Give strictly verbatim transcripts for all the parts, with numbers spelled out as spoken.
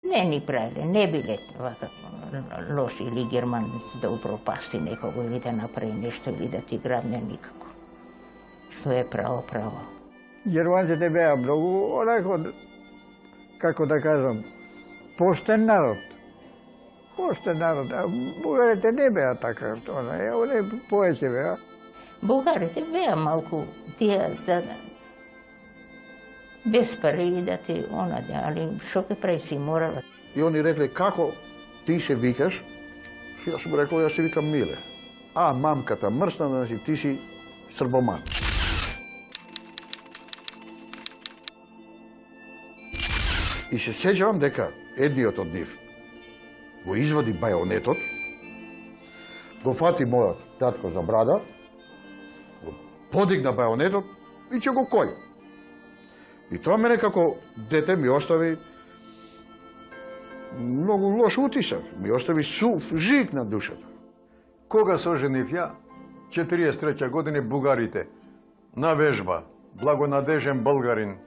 Не ни правиле, не биле вака лоши или германци да упропасти некого или да направи нешто или да ти грабне никако. Што е право, право. Германците беа многу, онако, како да кажам, поштен народ. Поштен народ, а бугарите не беа така, они повеќе беа. Бугарите беа малку тие за без пари да ти онаде, али шо ке прави си морала. И они рекле, како ти се викаш? Јас му рекол, јас се викам Миле. А, мамката мрсна, значи ти си србоман. И се сеќавам дека едниот од нив го извади бајонетот, го фати мојот татко за брада, го подигна бајонетот и ќе го кој. И тоа мене како дете ми остави многу лош утисак, ми остави сув жик на душата. Кога се оженив ја, четириесет и трета година бугарите, на вежба, благонадежен българин.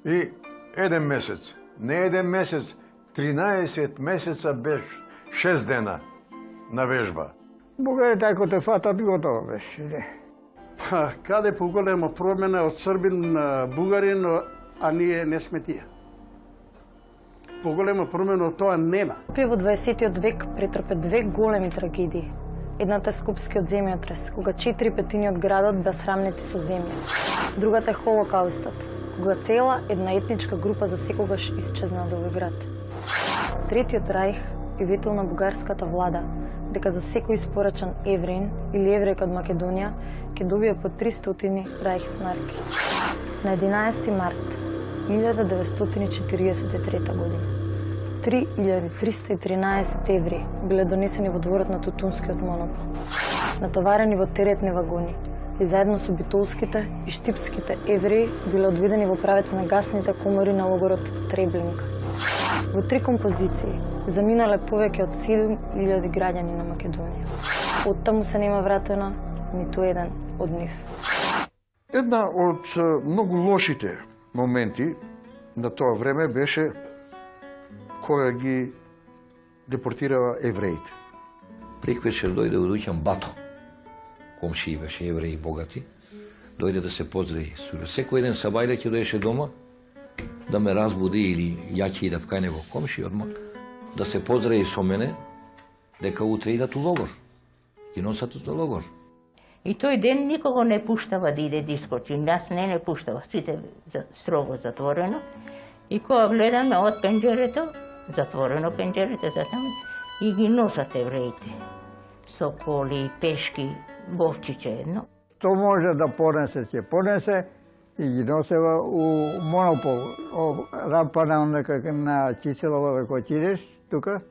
И еден месец, не еден месец, тринаесет месеца беше, шест дена на вежба. Бугарите ако те фатат, готово беше, не. Па, каде поголема промена од србин на бугарин, а ние не сме тие. Поголема промена од тоа нема. Во дваесеттиот век претрпе две големи трагедии. Едната е Скопскиот земјотрес, кога четири петини од градот беа срамнети со земја. Другата е Холокаустот, кога цела една етничка група за секогаш исчезна од овој град. Третиот рајх е ветил на бугарската влада дека за секој испорачан евреин или еврејка од Македонија ќе добие по тристотини рајхсмарки. На единаесети март илјада деветстотини и четириесет и трета година три илјади триста и тринаесет евреи биле донесени во дворот на Тутунскиот монопол, натоварени во теретни вагони и заедно со битолските и штипските евреи биле одведени во правец на гасните комори на логорот Треблинка. Во три композиции заминале повеќе од седум илјади граѓани на Македонија. Оттаму се нема вратено ниту еден од нив. Една од многу лошите моменти на тоа време беше кога ги депортирава евреите. Преквечер дојде од Уќан Бато, комши беше евреи богати, дојде да се поздрави. Секој еден сабајле ќе доеше дома да ме разбуди или ја ќе идав кај него комши одма, да се поздрави со мене дека утре идат у логор. Ги носат за логор. И тој ден никого не пуштава да иде да искочи. Нас не не пуштава, сите строго затворено. И кога гледаме од пенџерето, затворено пенџерето за таму, и ги носат евреите. Со коли, пешки, бовчиче едно. Што може да понесе, ќе понесе и ги носева у монопол. О, рампа на, на Киселова, ако отидеш, тука,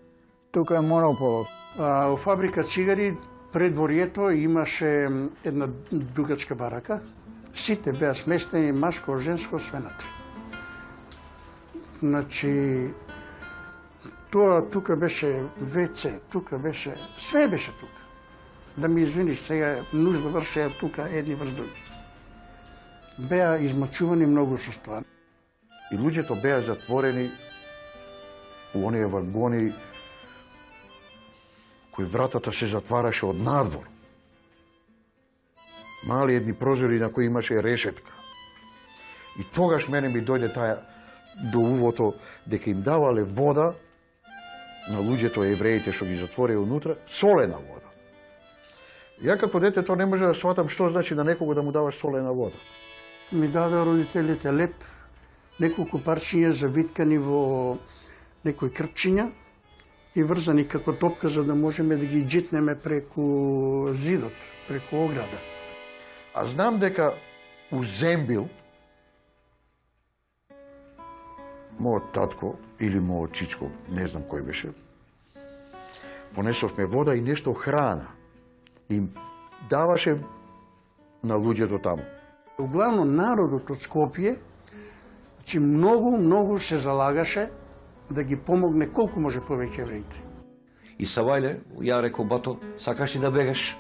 тука е монополот. А, у фабрика цигари пред дворието имаше една дугачка барака. Сите беа сместени, машко, женско, свенатри. Значи, тоа тука беше ВЦ, тука беше, све беше тука. Да ми извиниш, сега нужда вршеа тука едни врз други. Беа измачувани многу со тоа. И луѓето беа затворени у оние вагони кои вратата се затвараше од надвор. Мали едни прозори на кои имаше решетка. И тогаш мене ми дојде таа до увото дека им давале вода на луѓето евреите што ги затворија унутра, солена вода. Ја како дете тоа не може да сватам што значи на некого да му даваш солена вода. Ми даде родителите леп, неколку парчиња завиткани во некои крпчиња и врзани како топка за да можеме да ги джитнеме преку зидот, преку ограда. А знам дека у Зембил мојот татко или мојот чичко, не знам кој беше, понесовме вода и нешто храна. Им даваше на луѓето таму. Углавно народот од Скопје, значи многу, многу се залагаше да ги помогне колку може повеќе евреите. И Савајле, ја рекол Бато, сакаш ли да бегаш?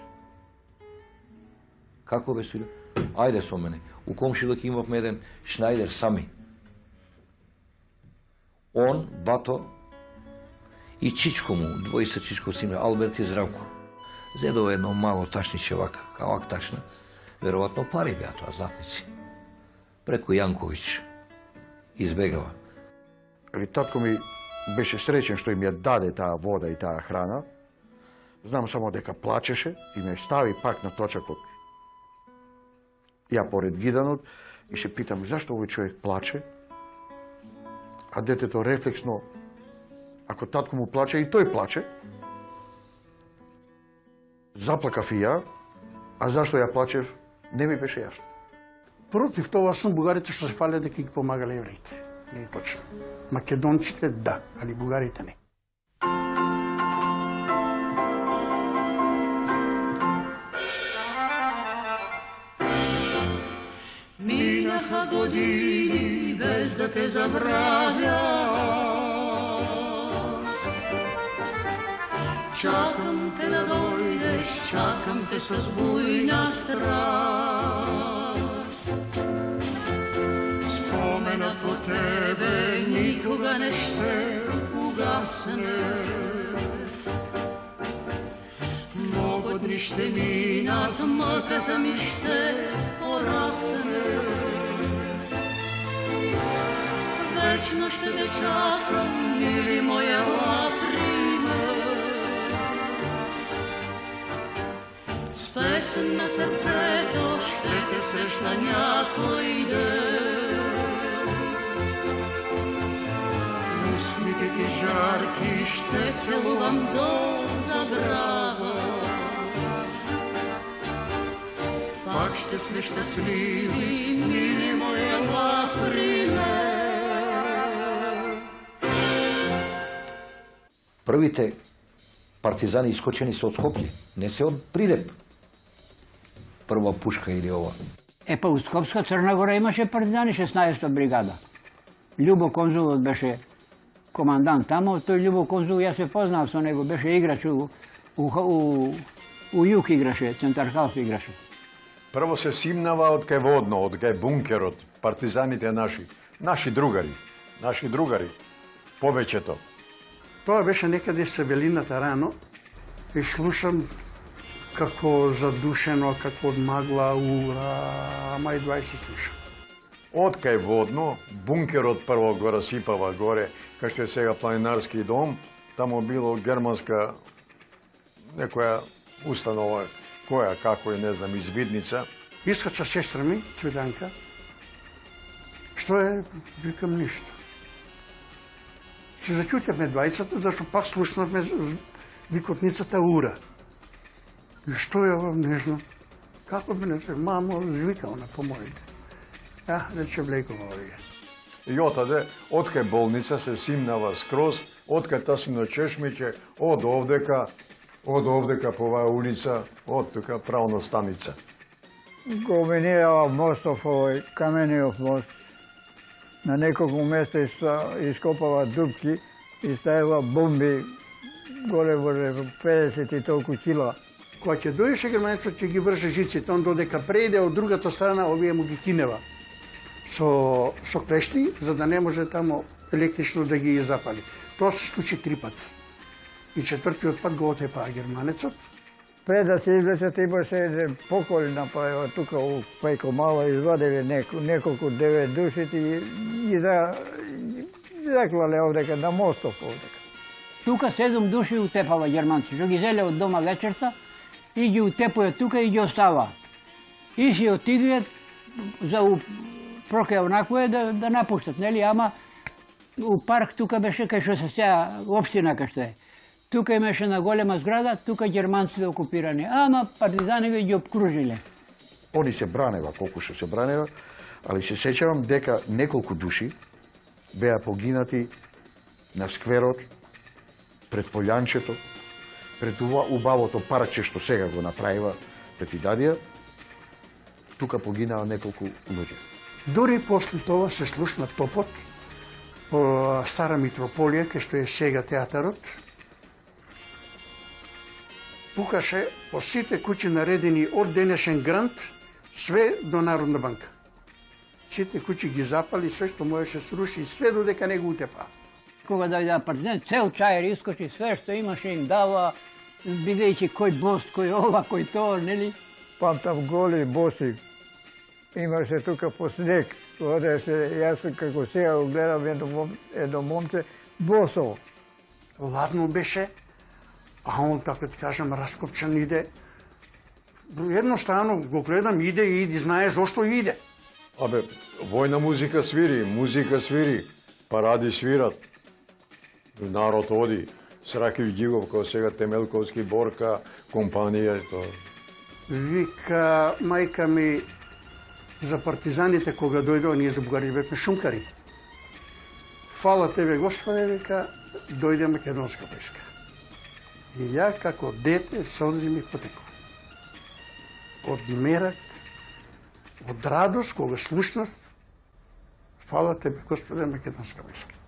Како бе Суле? Ајде со мене. У комшилок имавме еден Шнајдер сами. Он, Бато и чичко му, двојца чичко симе, Алберт и Здравко. Зедово едно мало ташниче вака, кавак ташна. Веројатно пари беа тоа, златници. Преку Јанковиќ избегава. Али татко ми беше среќен што им ја даде таа вода и таа храна. Знам само дека плачеше и ме стави пак на точакот. Ја поред гиданот и се питам зашто овој човек плаче, а детето рефлексно, ако татко му плаче и тој плаче. Заплакав и ја, а зашто ја плачев, не ми беше јасно. Против тоа сум бугарите што се фале дека ги помагале евреите. Не е точно. Македонците да, али бугарите не. Минаха години без да те забравя. Чакам те да дојдеш, чакам те со бујна страст. Споменот по тебе никога не ще угасне. Много дни ще минат, мъката ми ще порасне. Вечно ще те чакам, мили моя лаприме. С песен на сърцето ще те срещна някой ден. Устните ти жарки ще целувам до забрава. Пак ще сме щастливи, мили моя лаприме. Првите партизани искочени се од Скопје, не се од Прилеп. Прва пушка или ова. Е, па у Скопска Црна Гора имаше партизани шеснаесета бригада. Љубо Конзулот беше командант тамо, тој Љубо Конзул, јас се познав со него, беше играч у, у, у, у Јук играше, Центархалс играше. Прво се симнава од кај водно, од кај бункерот, партизаните наши, наши другари, наши другари, повеќето. Тоа беше некаде со белината рано и слушам како задушено, како од магла, ура, ама и двајсет слушам. Од кај водно, бункерот прво го расипава горе, кај што е сега планинарски дом, тамо било германска некоја установа, која, како е, не знам, извидница. Искача сестра ми, Цвиданка, што е, викам ништо. Се заќутевме двајцата, зашто пак слушнавме викотницата ура. И што е, не знам, како би не се, мамо, звикал на помоите. А, рече влекува овие. И отаде, од кај болница се симнава скроз, од кај Тасино чешмиќе, од овдека, од овдека по оваа улица, од тука правна станица. Го минирава мостов, овој камениот мост. На неколку места ископава дупки и ставила бомби голе во педесет и толку кила. Кога ќе дојдеше германецот, ќе ги врже жиците, он додека преде од другата страна, овие му ги кинева со, со клешти, за да не може тамо електрично да ги запали. Тоа се случи три пати. И четвртиот пат го отепаа германецот. Пред да се извлечат имаше еден поколи направила тука у Пајко Мала, извадили неко, неколку девет души и ги за, заклале овдека на мостов овдека. Тука седум души утепава германци, што ги зеле од дома вечерта и ги утепуе тука и ги остава. И си отидуе за у проке онакво да, да напуштат, нели, ама у парк тука беше кај што се сеа општина кај што е. Тука имаше на голема зграда, тука германците окупирани, ама партизанови ги обкружиле. Они се бранева, колку што се бранева, али се сеќавам дека неколку души беа погинати на скверот, пред Полјанчето, пред ова убавото парче што сега го направива пред Идадија, тука погинаа неколку луѓе. Дори после тоа се слушна топот по Стара Митрополија, кај што е сега театарот. Пукаше по сите куќи наредени од денешен грант, све до Народна банка. Сите куќи ги запали, све што можеше сруши, све додека не го утепа. кога дојде партизан, цел чајер искочи, све што имаше им дава, бидејќи кој бост, кој ова, кој тоа, нели? Памтам голи, боси. Имаше тука по снег. Одеше, јас како сега го гледам едно, мом, едно момче, босо. Ладно беше, а он, како ти кажам, раскопчан иде. Едноставно го гледам, иде и иди, знае зошто иде. Абе, војна музика свири, музика свири, паради свират. Народ оди. Сракив Гигов, као сега Темелковски, Борка, компанија и тоа. Вика мајка ми за партизаните кога дојдоа, ние за бугари бевме шумкари. Фала тебе Господе, вика, дојде македонска войска. И ја како дете солзи ми потекува. Од мерак, од радост кога слушнав, фала тебе Господе, македонска войска.